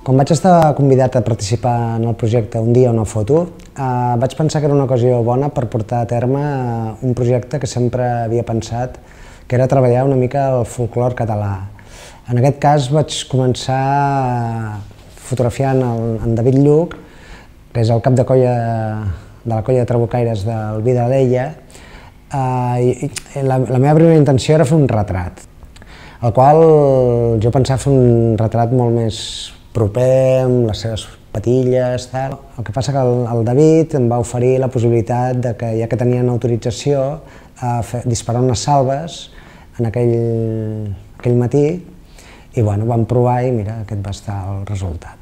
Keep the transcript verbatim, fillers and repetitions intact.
Quan vaig estar convidat a participar en el projecte Un dia una foto, eh, vaig pensar que era una ocasió bona per portar a terme un projecte que sempre havia pensat, que era treballar una mica el folclore català. En aquest cas vaig començar fotografiant el, en David Lluch, que és el cap de colla de la colla de trabucaires del Vi de l'Ella, eh, i, i la, la meva primera intenció era fer un retrat, el qual jo pensava fer un retrat molt més proper, amb les seves patilles, tal. El que passa que el, el David em va oferir la possibilitat de que, ja que tenien autorització, a fer, disparar unes salves en aquell, aquell matí, i bueno, vam provar i mira, aquest va estar el resultat.